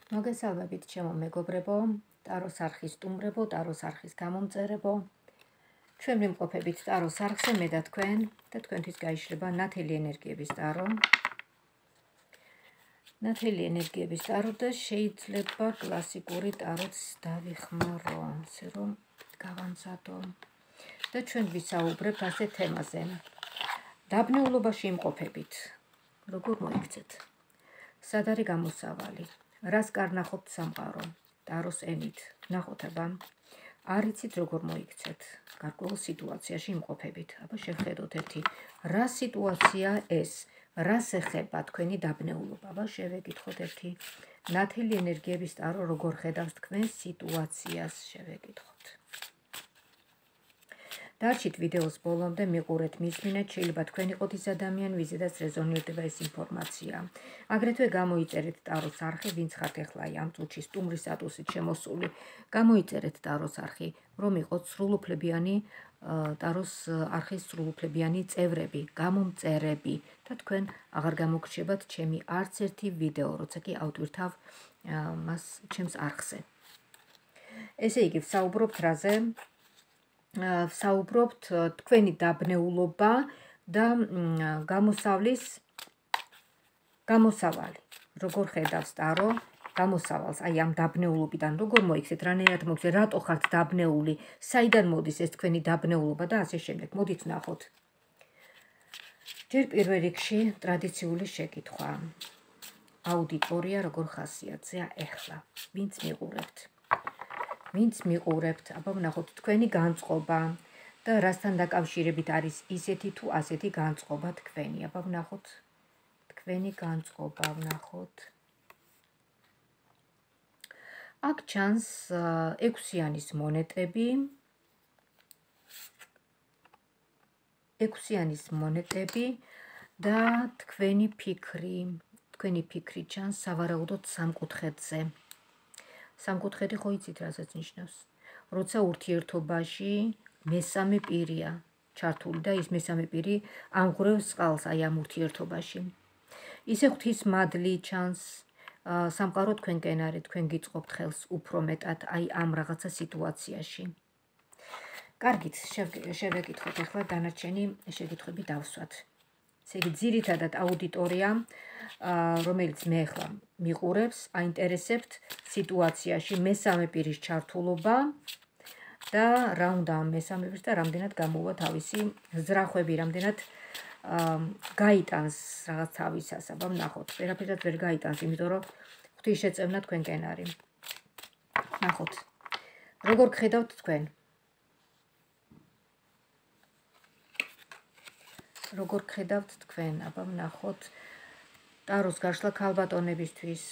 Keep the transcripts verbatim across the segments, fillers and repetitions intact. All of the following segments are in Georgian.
მოგესალმებით ჩემო მეგობრებო, ტაროს არხის სტუმრებო, ტაროს არხის გამომწერებო. ჩვენ ვიმყოფებით ტაროს არხზე მე და თქვენ და თქვენთვის გაიშლება ნათელი ენერგიების ტარო. ნათელი ენერგიების ტარო და შეიძლება კლასიკური ტაროც დავიხმარო, ასე რომ გავამზადო. და ჩვენ ვისაუბრებთ ასე თემაზე. დაბნეულობაში იმყოფებით. როგორ მოიქცეთ? სად არის გამოსავალი? რას კარნახობთ სამყარო? ტაროს ენით. ნახოთ აბა. არ იცით როგორ მოიქცეთ? გარკვეულ სიტუაციაში იმყოფებით. აბა შევხედოთ ერთი. რა სიტუაცია ეს? რას ეხება თქვენი დაბნეულობა? აბა შევეკითხოთ ერთი. ნათელი ენერგიების ტარო როგორ ხედავს თქვენს სიტუაციას? შევეკითხოთ. დარჩით ვიდეოს ბოლომდე, მიყურეთ, მისმინეთ, შეიძლება თქვენ იყოთ ის ადამიანი, ვიზედაც რეზონირდება ეს ინფორმაცია. აგრეთვე გამოიწერეთ ტაროს არხი, ვინც ხართ ახლა ამ წუთში სტუმრის სტატუსით შემოსული. გამოიწერეთ ტაროს არხი, რომ იყოთ სრულუფლებიანი ტაროს არხის სრულუფლებიანი წევრები, გამომწერები და თქვენ აღარ გამოგრჩებათ ჩემი არც ერთი ვიდეო, როცა კი ავტვირთავ მას ჩემს არხზე. ესე იგი, ვსაუბრობთ რაზე? ვსაუბრობთ თქვენი დაბნეულობა და გამოსავლის გამოსავალი. როგორ ხედავს ტარო გამოსავალს, აი ამ დაბნეულობიდან როგორ მოიქცეთ, რანაირად მოიქცეთ, რატო ხართ დაბნეული, საიდან მოდის ეს თქვენი დაბნეულობა და ასე შემდეგ. მოდით ვნახოთ. ჯერ პირველ რიგში ტრადიციული შეკითხვა. აუდიტორია როგორ ხასიათზეა ეხლა, ვინც მიყურებთ. ვინც მიყურებთ, აბა ვნახოთ თქვენი განწყობა და რასთან დაკავშირებით არის ისეთი თუ ასეთი განწყობა თქვენი. აბა ვნახოთ თქვენი განწყობა, ვნახოთ. აქ ჩანს ექვსიანის მონეტები. ექვსიანის მონეტები და თქვენი ფიქრი, თქვენი ფიქრი ჩანს სავარაუდოდ სამკუთხედზე. სამკუთხედი ხო იცით რასაც ნიშნავს? როცა ურთიერთობაში მესამე პირია ჩართული და ის მესამე პირი ამღვრევს წყალს აი ამ ურთიერთობაში. ისე ღვთისმადლი ჩანს, სამყარო თქვენკენ არის, თქვენ გიწყობთ ხელს უფრო მეტად აი ამ რაღაცა სიტუაციაში. კარგით, შევეკითხოთ ახლა დანარჩენი შეკითხვები დავსვათ. ესე იგი, ძირითადად აუდიტორია, რომელიც მე ახლა მიყურებს, აინტერესებთ სიტუაციაში მესამე პირის ჩართულობა და რა უნდა ამ მესამე პირს და რამდენად გამოვა თავისი ზრახვები, რამდენად გაიტანს რაღაც თავისას. აბა ვნახოთ, ვერაფერად ვერ გაიტანს, იმიტომ რომ ღვთისშეწევნა თქვენკენ არის. ნახოთ. როგორ გხედავთ თქვენ? როგორ გხედავთ თქვენ? აბა ვნახოთ. ტაროს გაშლა ქალბატონებისთვის.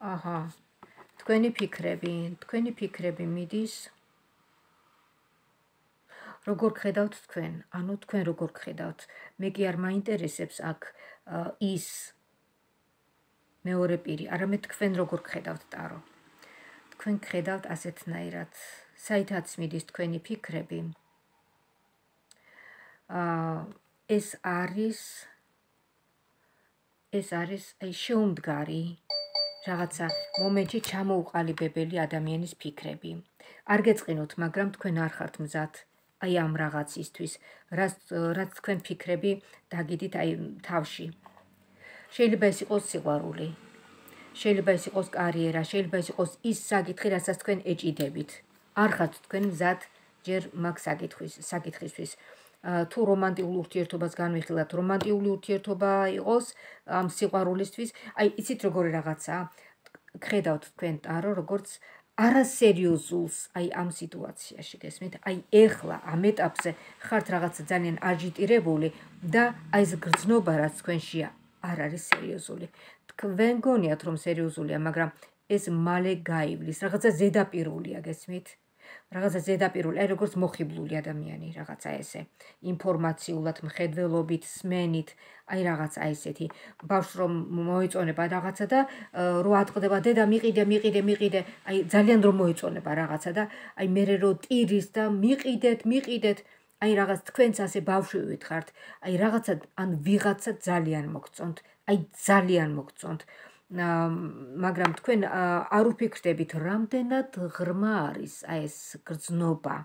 აჰა. თქვენი ფიქრები, თქვენი ფიქრები მიდის. როგორ გხედავთ თქვენ? ანუ თქვენ როგორ გხედავთ? მე კი არ მაინტერესებს აქ ის მეორე პირი, არამედ თქვენ როგორ გხედავთ ტარო. თქვენ გხედავთ ასეთნაირად. საითაც მიდის თქვენი ფიქრები? ეს არის ეს არის აი შეუმდგარი რაღაცა მომენტში ჩამოუყალიბებელი ადამიანის ფიქრები. არ გეწყინოთ, მაგრამ თქვენ არ ხართ მზად აი ამ რაღაცისთვის, რაც რაც თქვენ ფიქრები დაგიდით აი თავში. შეიძლება ეს იყოს სიყვარული, შეიძლება ეს იყოს კარიერა, შეიძლება ეს იყოს ის საკითხი, რასაც თქვენ ეჭიდებით. არ ხართ თქვენ მზად ჯერ მაგ საკითხვის, საკითხისთვის. თუ რომანტიულ ურთიერთობას განვიხილავთ, რომანტიული ურთიერთობა იყოს ამ სიყვარულისთვის, აი იცით როგორი რაღაცაა, გხედავთ თქვენ ტარო, როგორც არასერიოზულს აი ამ სიტუაციაში, გესმით? აი ეხლა ამ ეტაპზე ხართ რაღაცა ძალიან აჟიტირებული და აი ეს გრძნობა რაც თქვენშია არ არის სერიოზული. თქვენ გონიათ რომ სერიოზულია, მაგრამ ეს მალე გაივლის, რაღაცა ზედაპირულია, გესმით? რაღაცა ზედაპირული, აი როგორც მოხიბლული ადამიანი, რაღაცა ესე. ინფორმაციულად, მხედველობით, სმენით, აი რაღაცა ესეთი. ბავშვს რომ მოეწონება რაღაცა და რო ატყდება დედა მიყიდე, მიყიდე, მიყიდე, აი ძალიან რომ მოეწონება რაღაცა და აი მერე რო ტირის და მიყიდეთ, მიყიდეთ, აი რაღაც თქვენც ასე ბავშვივით ხართ, აი რაღაცა ან ვიღაცა ძალიან მოგწონთ, აი ძალიან მოგწონთ. მაგრამ თქვენ არ უფიქრდებით, რამდენად ღრმა არის აი ეს გრძნობა.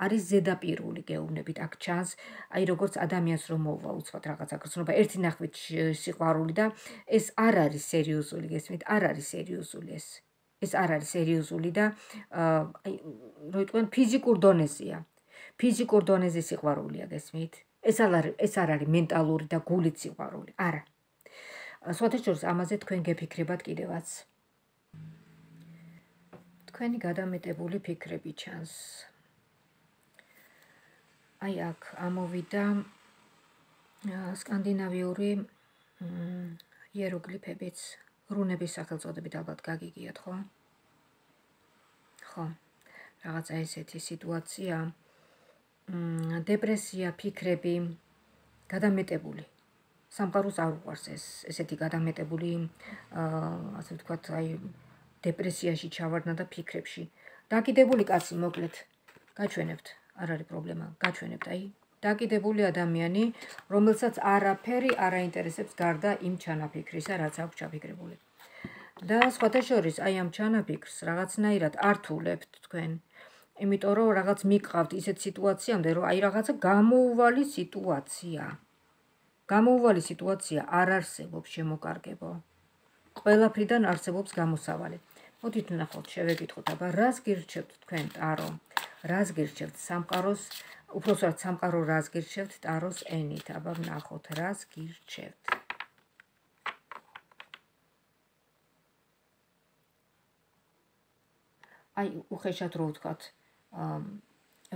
არის ზედაპირული გეუბნებით, აქ ჩანს, აი როგორც ადამიანს რომ მოვა უცბად რაღაცა გრძნობა, ერთი ნახვით სიყვარული და ეს არ არის სერიოზული, გესმით, არ არის სერიოზული ეს. ეს არ არის სერიოზული და აი რო იტყვიან ფიზიკურ დონეზეა. ფიზიკურ დონეზე სიყვარულია, გესმით? ეს არ ეს არ არის მენტალური და გულით სიყვარული, არა. სხვათა შორის ამაზე თქვენ გეფიქრებათ კიდევაც. თქვენი გადამეტებული ფიქრები ჩანს. აი აქ ამოვიდა სკანდინავიური იეროგლიფებიც, რუნების სახელწოდებით ალბათ გაგიგიათ, ხო? ხო. რაღაცა ესეთი სიტუაცია, დეპრესია, ფიქრები, გადამეტებული. სამყაროს არ უყვარს ეს ესეთი გადამეტებული, ასე ვთქვათ, აი დეპრესიაში ჩავარდნა და ფიქრებში. დაკიდებული კაცი, მოკლედ, გაჩვენებთ, არ არის პრობლემა, გაჩვენებთ, აი დაკიდებული ადამიანი, რომელსაც არაფერი არ აინტერესებს გარდა იმ ჩანაფიქრისა, რაც აქვს ჩაფიქრებული. და სხვათა შორის, აი ამ ჩანაფიქრს რაღაცნაირად ართულებთ თქვენ, იმიტომ რომ რაღაც მიყავთ ისეთ სიტუაციამდე, რომ აი რაღაცა გამოუვალი სიტუაცია. გამოუვალი სიტუაცია არ არსებობს, შემოკარგებო. ყველაფრიდან არსებობს გამოსავალი. მოდით ვნახოთ, შევეკითხოთ, აბა რას გირჩევთ თქვენ ტარო? რას გირჩევთ სამყაროს, უпроსტად სამყარო რას გირჩევთ ტაროს ენით? აბა ვნახოთ, რას გირჩევთ? აი უხეშად რო ვთქვათ,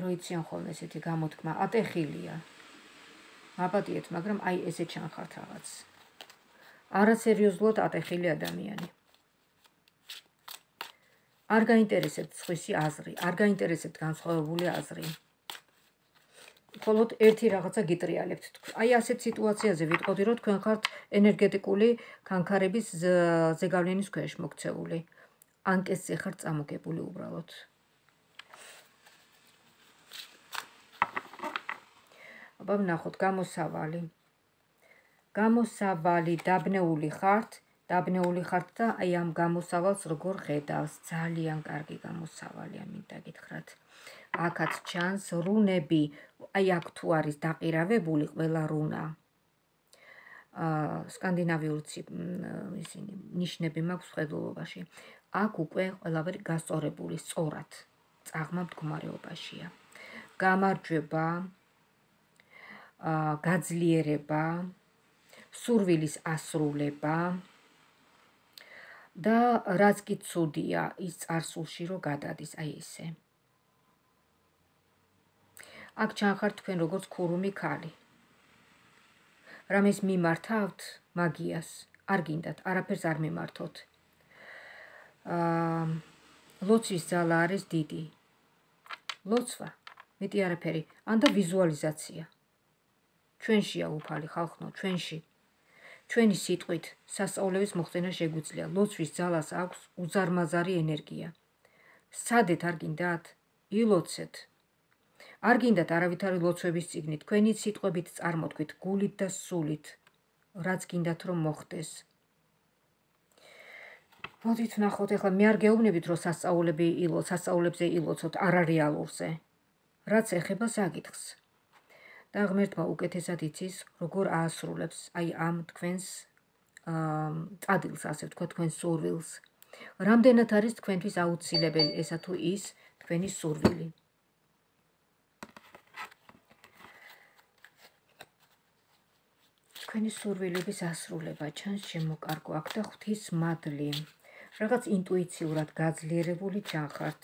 რო იციან ხოლმე ესეთი გამოთქმა, ატეხილია. აპატიეთ, მაგრამ აი ესე ჩანხართ რაღაც. არასერიოზულად ატეხილი ადამიანი. არ გაინტერესებთ სხვისი აზრი, არ გაინტერესებთ განსხვავებული აზრი. მხოლოდ ერთი რაღაცა გიტრიალებთ. აი ასეთ სიტუაციაზე ვიტყოდი, რომ თქვენ ხართ ენერგეტიკული ქანქარების ზეგავლენის ქვეშ მოქცეული. ანკესზე ხართ წამოგებული უბრალოდ. აბა ვნახოთ, გამოსავალი. გამოსავალი, დაბნეული ხართ, დაბნეული ხართ და აი ამ გამოსავალს როგორ ხედავს? ძალიან კარგი გამოსავალია, მინდა გითხრათ. აქაც ჩანს რუნები, აი აქ თუ არის დაყირავებული ყველა რუნა. სკანდინავიური ისინი ნიშნები მაქვს ხედულობაში. აქ უკვე ყველაფერი გასწორებული, სწორად, წაღმა მდგომარეობაშია. გამარჯვება, გაძლიერება, სურვილის ასრულება და რაც კი ცუდია, ის წარსულში რო გადადის, აი ესე. აქ ჩანხართ თქვენ როგორც ქურუმი ქალი. რამეს მიმართავთ მაგიას, არ გინდათ, არაფერს არ მიმართოთ. ლოცვის ძალა არის დიდი. ლოცვა, მეტი არაფერი, ან და ვიზუალიზაცია. ჩვენშია უფალი ხალხო, ჩვენში. ჩვენი სიტყვით სასწაულების მოხდენა შეგვიძლია. ლოცვის ძალას აქვს უზარმაზარი ენერგია. სადეთ არ გინდათ? ილოცეთ. არ გინდათ არავითარი ლოცვების წიგნი, თქვენი სიტყვებით წარმოთქვით, გულით და სულით, რაც გინდათ რომ მოხდეს. მოდით ვნახოთ, ეხლა მე არ გეუბნებით, რომ სასწაულები ილოცოთ, სასწაულებზე ილოცოთ არარეალურზე. რაც ეხება საკითხს. და ღმერთმა უკეთესად იცის, როგორ აასრულებს აი ამ თქვენს წადილს, ასე ვთქვათ, თქვენს სურვილს. რამდენად არის თქვენთვის აუცილებელი ესა თუ ის თქვენი სურვილი. თქვენი სურვილების ასრულება ჩანს შემოკარგო აქ და ღვთის მადლი. რაღაც ინტუიციურად გაძლიერებული ჩანხართ.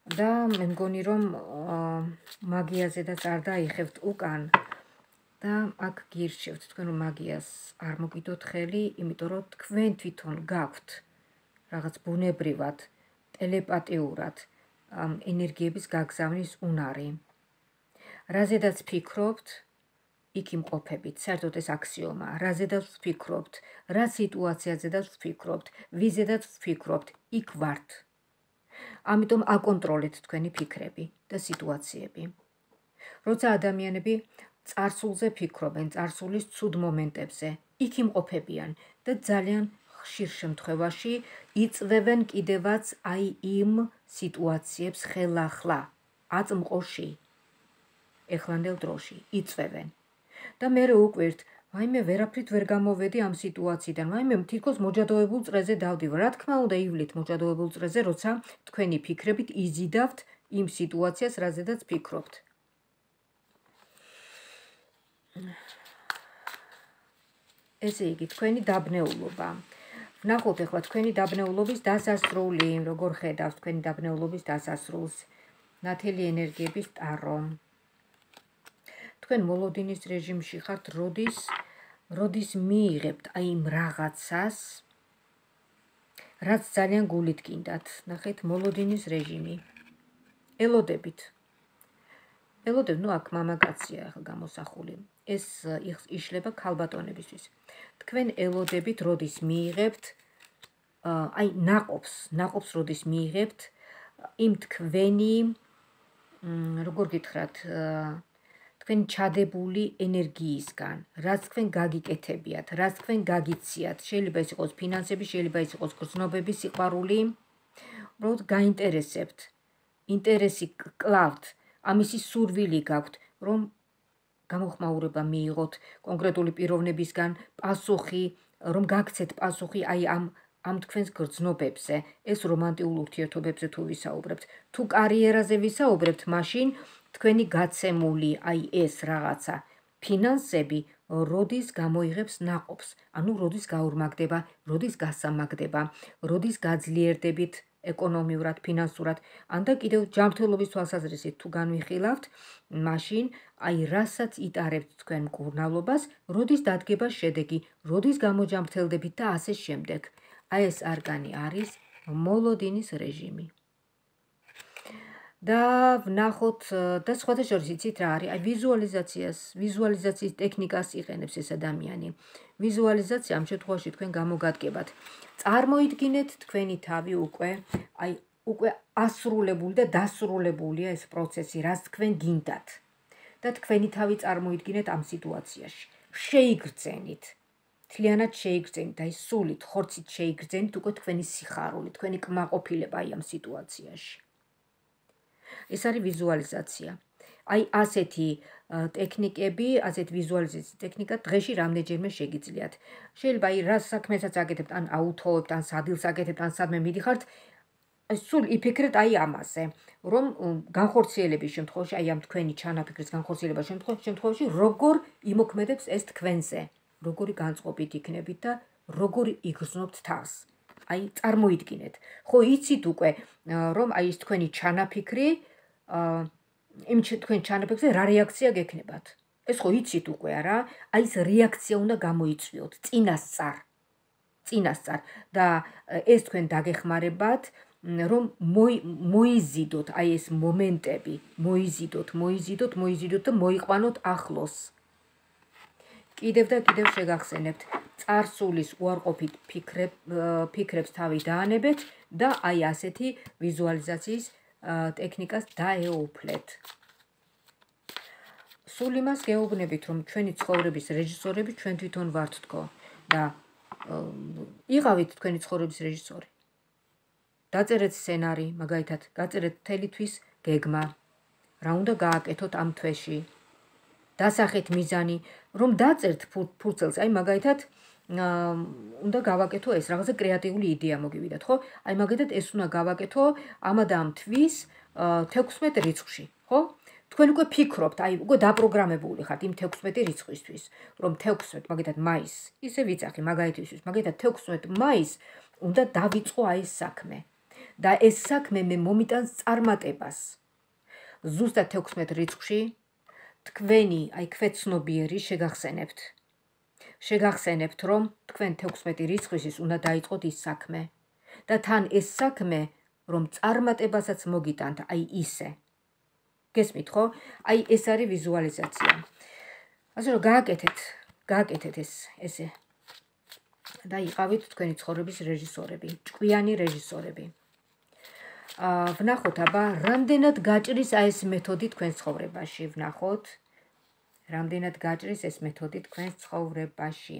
და მე მგონი რომ მაგიაზედაც არ დაიხევთ უკან და აქ გირჩევთ თქვენ რომ მაგიას არ მოგიდოთ ხელი, იმიტომ რომ თქვენ თვითონ გაქვთ რაღაც ბუნებრივად, ტელეპათიურად ენერგიების გაგზავნის უნარი. რაზედაც ფიქრობთ, იქ იმყოფებით, საერთოდ ეს აქსიომაა. რაზედაც ვფიქრობთ, რა სიტუაციაზედაც ვფიქრობთ, ვიზედაც ვფიქრობთ, იქ ვართ. ამიტომ აკონტროლეთ თქვენი ფიქრები და სიტუაციები. როცა ადამიანები წარსულზე ფიქრობენ, წარსულის ცუდ მომენტებზე, იქ იმყოფებიან და ძალიან ხშირ შემთხვევაში იწვევენ კიდევაც აი იმ სიტუაციებს ხელახლა, აწმყოში, ეხლანდელ დროში, იწვევენ. და მერე უკვირთ, ვაიმე ვერაფრით ვერ გამოვედი ამ სიტუაციიდან, ვაიმე თითქოს მოჯადოებულ წრეზე დავდივარ. რა თქმა უნდა, ივლით მოჯადოებულ წრეზე, როცა თქვენი ფიქრებით იზიდავთ იმ სიტუაციას, რაზედაც ფიქრობთ. ესე იგი, თქვენი დაბნეულობა. ვნახოთ ახლა თქვენი დაბნეულობის დასასრული, როგორ ხედავს თქვენი დაბნეულობის დასასრულს. ნათელი ენერგიების ტარო. თქვენ მოლოდინის რეჟიმში ხართ, როდის, როდის მიიღებთ აი იმ რაღაცას, რაც ძალიან გულით გინდათ. ნახეთ, მოლოდინის რეჟიმი. ელოდებით. ელოდებ, ნუ აქ მამაკაცია ახლა გამოსახული. ეს იშლება ქალბატონებისთვის. თქვენ ელოდებით, როდის მიიღებთ აი ნაყოფს, ნაყოფს როდის მიიღებთ იმ თქვენი, როგორ გითხრათ, თქვენი ჩადებული ენერგიისგან, რაც თქვენ გაგიკეთებიათ, რაც თქვენ გაგიციათ. შეიძლება ეს იყოს ფინანსები, შეიძლება ეს იყოს გრძნობები, სიყვარული. უბრალოდ გაინტერესებთ, ინტერესი კლავთ, ამისი სურვილი გაქვთ, რომ გამოხმაურება მიიღოთ კონკრეტული პიროვნებისგან, პასუხი, რომ გაქცეთ პასუხი აი ამ ამ თქვენს გრძნობებზე, ეს რომანტიულ ურთიერთობებზე თუ ვისაუბრებთ, თუ კარიერაზე ვისაუბრებთ, მაშინ თქვენი გაცემული აი ეს რაღაცა ფინანსები როდის გამოიღებს ნაყოფს, ანუ როდის გაორმაგდება, როდის გასამაგდება, როდის გაძლიერდებით ეკონომიურად, ფინანსურად, ან და კიდევ ჯანმრთელობის თვალსაზრისით თუ განვიხილავთ, მაშინ აი რასაც იტარებთ თქვენ მკურნალობას, როდის დადგება შედეგი, როდის გამოჯანმრთელდებით და ასე შემდეგ. აი ეს არკანი არის მოლოდინის რეჟიმი. და ვნახოთ და სხვათა შორის იცით რა არის, აი ვიზუალიზაციას, ვიზუალიზაციის ტექნიკას იყენებს ეს ადამიანი. ვიზუალიზაცია ამ შემთხვევაში თქვენ გამოგადგებათ. წარმოიდგინეთ თქვენი თავი უკვე, აი უკვე ასრულებული და დასრულებულია ეს პროცესი, რაც თქვენ გინდათ. და თქვენი თავი წარმოიდგინეთ ამ სიტუაციაში. შეიგრძენით. მთლიანად შეიგრძენით, აი სულით, ხორცით შეიგრძენით უკვე თქვენი სიხარული, თქვენი კმაყოფილება აი ამ სიტუაციაში. ეს არის ვიზუალიზაცია. აი ასეთი ტექნიკები, ასეთ ვიზუალიზაციის ტექნიკა დღეში რამდენჯერმე შეგიძლიათ. შეიძლება აი რა საქმესაც აკეთებთ, ან აუთოვებთ, ან სადილს აკეთებთ, ან სადმე მიდიხართ, სულ იფიქრეთ აი ამაზე, რომ განხორციელების შემთხვევაში, აი ამ თქვენი ჩანაფიქრის განხორციელების შემთხვევაში, როგორ იმოქმედებს ეს თქვენზე, როგორი განწყობით იქნებით და როგორი იგრძნობთ თავს. აი წარმოიდგინეთ. ხო იცით უკვე, რომ აი ეს თქვენი ჩანაფიქრი იმ თქვენ ჩანაფიქრზე რა რეაქცია გექნებათ. ეს ხო იცით უკვე არა, აი ეს რეაქცია უნდა გამოიწვიოთ წინასწარ. წინასწარ და ეს თქვენ დაგეხმარებათ, რომ მოიზიდოთ აი ეს მომენტები, მოიზიდოთ, მოიზიდოთ, მოიზიდოთ და მოიყვანოთ ახლოს. კიდევ და კიდევ შეგახსენებთ, წარსულის უარყოფით ფიქრებს თავი დაანებეთ და აი ასეთი ვიზუალიზაციის ტექნიკას დაეუფლეთ. სულ იმას გეუბნებით, რომ ჩვენი ცხოვრების რეჟისორები ჩვენ თვითონ ვართ თქო და იყავით თქვენი ცხოვრების რეჟისორი. დაწერეთ სცენარი, მაგალითად, გაწერეთ მთელი თვის გეგმა, რა უნდა გააკეთოთ ამ თვეში. დასახეთ მიზანი, რომ დაწერთ ფურცელს, აი მაგალითად, უნდა გავაკეთო ეს, რაღაცა კრეატიული იდეა მოგივიდათ, ხო? აი მაგალითად ეს უნდა გავაკეთო ამ და ამ თვის თექვსმეტ რიცხვში, ხო? თქვენ უკვე ფიქრობთ, აი უკვე დაპროგრამებული ხართ იმ თექვსმეტ რიცხვისთვის, რომ თექვსმეტ, მაგალითად მაისს, ისე ვიძახი მაგალითისთვის, მაგალითად თექვსმეტ მაისს უნდა დავიწყო აი ეს საქმე. და ეს საქმე მე მომიტანს წარმატებას. ზუსტად თექვსმეტ რიცხვში თქვენი აი ქვეცნობიერი შეგახსენებთ. შეგახსენებთ, რომ თქვენ თექვსმეტი რიცხვისთვის უნდა დაიწყოთ ის საქმე. და თან ეს საქმე, რომ წარმატებასაც მოგიტანთ, აი ისე. გესმით, ხო? აი ეს არის ვიზუალიზაცია. ასე რომ გააკეთეთ, გააკეთეთ ეს, ესე. და იყავით თქვენი ცხოვრების რეჟისორები, ჭკვიანი რეჟისორები. ვნახოთ აბა, რამდენად გაჭრის აი ეს მეთოდი თქვენ ცხოვრებაში, ვნახოთ. რამდენად გაჭრის ეს მეთოდი თქვენ ცხოვრებაში.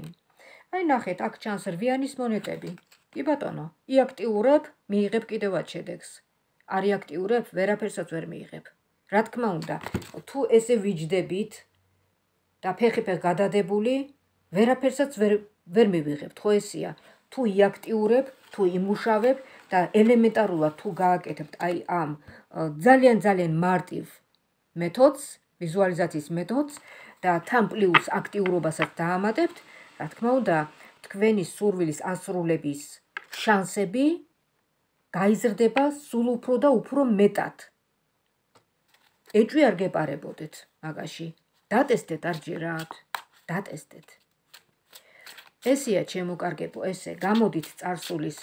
აი ნახეთ, აქ ჩანს რვიანის მონეტები. კი ბატონო, იაქტიურებ, მიიღებ კიდევაც შედეგს. არ იაქტიურებ, ვერაფერსაც ვერ მიიღებ. რა თქმა უნდა, თუ ესე ვიჯდებით და ფეხი-ფეხ გადადებული, ვერაფერსაც ვერ ვერ მივიღებთ, ხო ესეა. თუ იაქტიურებ, თუ იმუშავებ და ელემენტარულად თუ გააკეთებთ აი ამ ძალიან ძალიან მარტივ მეთოდს, ვიზუალიზაციის მეთოდს და თან პლუს აქტიურობასაც დაამატებთ, რა თქმა უნდა, თქვენი სურვილის ასრულების შანსები გაიზრდება სულ უფრო და უფრო მეტად. ეჭვი არ გეპარებოდეთ მაგაში. დატესტეთ არ ჯერათ. დატესტეთ. ესეა ჩემო კარგებო, ესე გამოდით წარსულის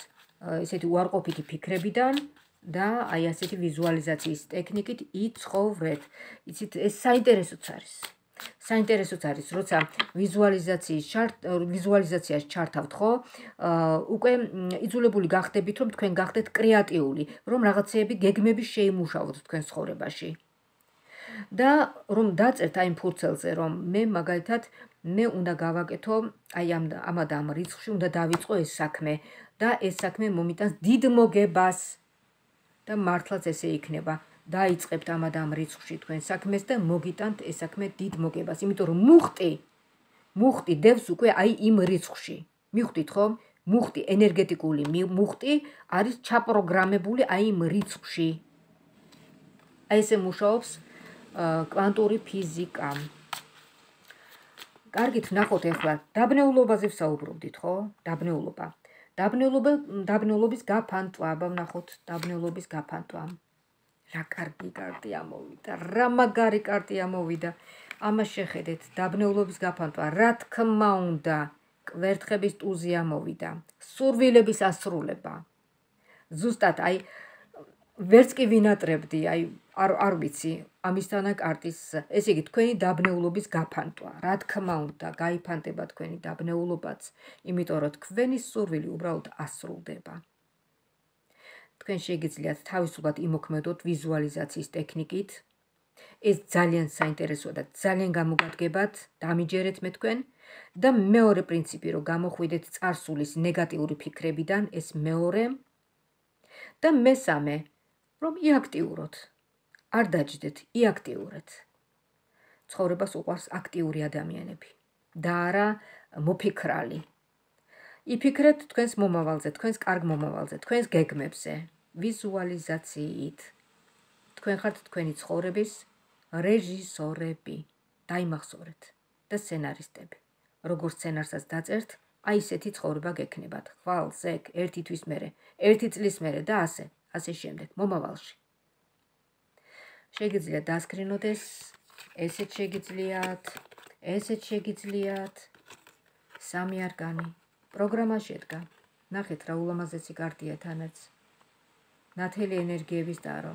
ესეთი უარყოფითი ფიქრებიდან და აი ასეთი ვიზუალიზაციის ტექნიკით იცხოვრეთ. იცით, ეს საინტერესოც არის. საინტერესოც არის, როცა ვიზუალიზაციის ვიზუალიზაციას ჩართავთ, ხო? უკვე იძულებული გახდებით, რომ თქვენ გახდეთ კრეატიული, რომ რაღაცეები გეგმები შეიმუშავოთ თქვენ ცხოვრებაში. და რომ დაწერთ აი ფურცელზე, რომ მე მაგალითად მე უნდა გავაკეთო აი ამ ამ და ამ რიცხვში უნდა დავიწყო ეს საქმე და ეს საქმე მომიტანს დიდ მოგებას და მართლაც ესე იქნება. დაიწყებთ ამ და ამ რიცხვში თქვენ საქმეს და მოგიტანთ ეს საქმე დიდ მოგებას, იმიტომ რომ მუხტი მუხტი დევს უკვე აი იმ რიცხვში. მიხვდით ხო? მუხტი, ენერგეტიკული მუხტი არის ჩაპროგრამებული აი იმ რიცხვში. აი ესე მუშაობს კვანტური ფიზიკა. კარგით, ვნახოთ ახლა დაბნეულობაზე ვსაუბრობდით, ხო? დაბნეულობა. დაბნეულობა, დაბნეულობის გაფანტვა, ვნახოთ დაბნეულობის გაფანტვა. რა კარგი კარტი ამოვიდა, რა მაგარი კარტი ამოვიდა. ამას შეხედეთ, დაბნეულობის გაფანტვა, რა თქმა უნდა, კვერთხების ტუზი ამოვიდა. სურვილების ასრულება. ზუსტად აი ვერც კი ვინატრებდი, აი არ არ ვიცი, ამისთანა კარტის, ესე იგი თქვენი დაბნეულობის გაფანტვა. რა თქმა უნდა, გაიფანტება თქვენი დაბნეულობაც, იმიტომ რომ თქვენი სურვილი უბრალოდ ასრულდება. თქვენ შეგიძლიათ თავისუფლად იმოქმედოთ ვიზუალიზაციის ტექნიკით. ეს ძალიან საინტერესოა და ძალიან გამოგადგებათ, დამიჯერეთ მე თქვენ და მეორე პრინციპი, რომ გამოხვიდეთ წარსულის ნეგატიური ფიქრებიდან, ეს მეორე და მესამე, რომ იაქტიუროთ. არ დაჯდეთ, იაქტიურეთ. ცხოვრებას უყვარს აქტიური ადამიანები და არა მოფიქრალი. იფიქრეთ თქვენს მომავალზე, თქვენს კარგ მომავალზე, თქვენს გეგმებზე, ვიზუალიზაციით. თქვენ ხართ თქვენი ცხოვრების რეჟისორები. დაიმახსოვრეთ და სცენარისტები. როგორც სცენარსაც დაწერთ, აი ესეთი ცხოვრება გექნებათ. ხვალ, ზეგ, ერთი თვის მერე, ერთი წლის მერე და ასე, ასე შემდეგ, მომავალში. შეგიძლიათ დასკრინოთ ეს, ესეც შეგიძლიათ, ესეც შეგიძლიათ. სამი არკანი. პროგრამა შედგა. ნახეთ რა ულამაზესი კარტია თანაც. ნათელი ენერგიების ტარო.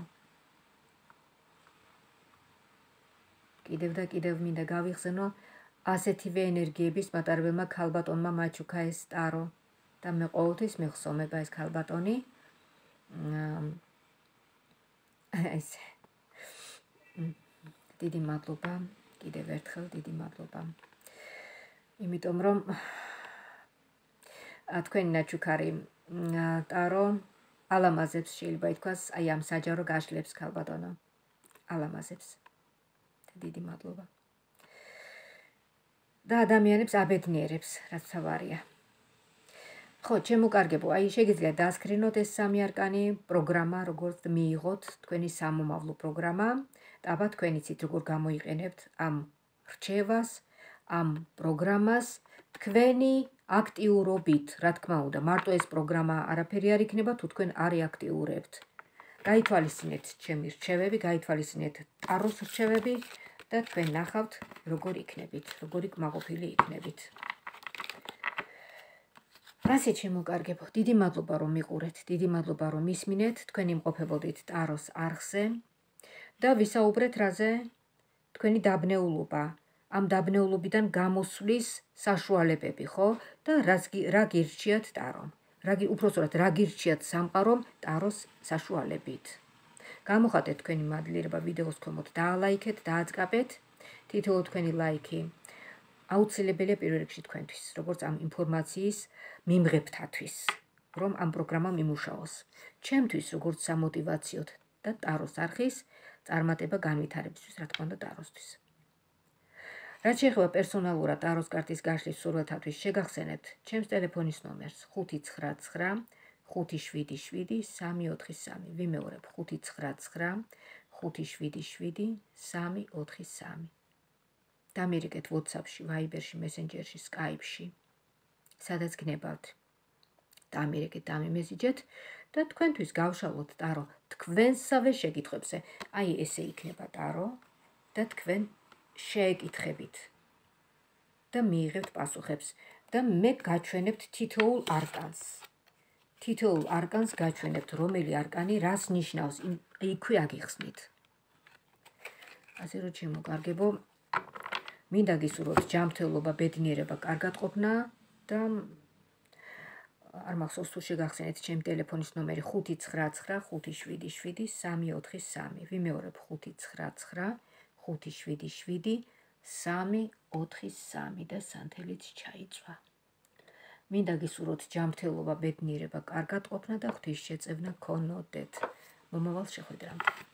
კიდევ და კიდევ მინდა გავიხსენო, ასეთივე ენერგიების მატარებელმა ქალბატონმა მაჩუკა ეს ტარო და მე ყოველთვის მეხსოვნება ეს ქალბატონი. ეს დიდი მადლობა, კიდევ ერთხელ დიდი მადლობა. იმიტომ რომ თქვენი ნაჩუქარი ტარო ალამაზებს, შეიძლება ითქვას, აი ამ საჯარო გაშლებს ქალბატონო. ალამაზებს. დიდი მადლობა. და ადამიანებს აბედნიერებს, რაც თავარია. ხო, ჩემო კარგებო, აი შეგიძლიათ დაასკრინოთ ეს სამი არკანი, პროგრამა, როგორც მიიღოთ თქვენი სამომავლო პროგრამა, და აბა თქვენ იცით როგორ გამოიყენებთ ამ რჩევას, ამ პროგრამას თქვენი აქტიურობით, რა თქმა უნდა, მარტო ეს პროგრამა არაფერი არ იქნება, თუ თქვენ არ იაქტიურებთ. გაითვალისწინეთ ჩემი რჩევები, გაითვალისწინეთ ტაროს რჩევები და თქვენ ნახავთ, როგორ იქნებით, როგორი კმაყოფილი იქნებით. ასე ჩემო კარგებო, დიდი მადლობა რომ მიყურეთ, დიდი მადლობა რომ მისმინეთ, თქვენ იმყოფებოდით ტაროს არხზე და ვისაუბრეთ რაზე? თქვენი დაბნეულობა, ამ დაბნეულობიდან გამოსვლის საშუალებები, ხო? და რა გირჩიათ ტარომ? რაგი უпроსტად რა გირჩიათ სამყარომ ტაროს საშუალებით. გამოხატეთ თქვენი მადლიერება ვიდეოს ქვემოთ, დაალაიქეთ, დააწყაბეთ. თითოეულ თქვენი ლაიქი აუცილებელია პირველ რიგში თქვენთვის, როგორც ამ ინფორმაციის მიმღებთათვის, რომ ამ პროგრამა მიმუშაოს. ჩემთვის როგორც სამოტივაციოდ და ტაროს არხის წარმატება განვითარებისთვის, რა თქმა უნდა, ტაროსთვის. რაც შეეხება პერსონალურად ტაროს კარტის გაშლის სურვილთათვის, შეგახსენებთ ჩემს ტელეფონის ნომერს ხუთი ცხრა ცხრა ხუთი შვიდი შვიდი სამი ოთხი სამი. ვიმეორებ ხუთი ცხრა ცხრა ხუთი შვიდი შვიდი სამი ოთხი სამი. დამირეკეთ WhatsApp-ში, Viber-ში, Messenger-ში, Skype-ში, სადაც გნებავთ. დამირეკეთ, დამიმესიჯეთ და თქვენთვის გავშალოთ ტარო თქვენსავე შეკითხვებზე. აი ესე იქნება ტარო და თქვენ შეეკითხებით და მიიღებთ პასუხებს და მე გაჩვენებთ თითოეულ არკანს. თითოეულ არკანს გაჩვენებთ, რომელი არკანი რას ნიშნავს, იქვე აგიხსნით. ასე რომ ჩემოგარგებო, მინდა გისურვოთ ჯანმრთელობა, ბედნიერება, კარგად ყოფნა და არ მახსოვს თუ შეგახსენეთ ჩემი ტელეფონის ნომერი ხუთი ცხრა ცხრა ხუთი შვიდი შვიდი სამი ოთხი სამი. ვიმეორებ ხუთი ცხრა ცხრა ხუთი შვიდი შვიდი სამი ოთხი სამი და სანთელიც ჩაიწვა. მინდა გისურვოთ ჯანმრთელობა, ბედნიერება, კარგად ყოფნა და ღვთის შეწევნა გქონოდეთ. მომავალ შეხვედრამდე.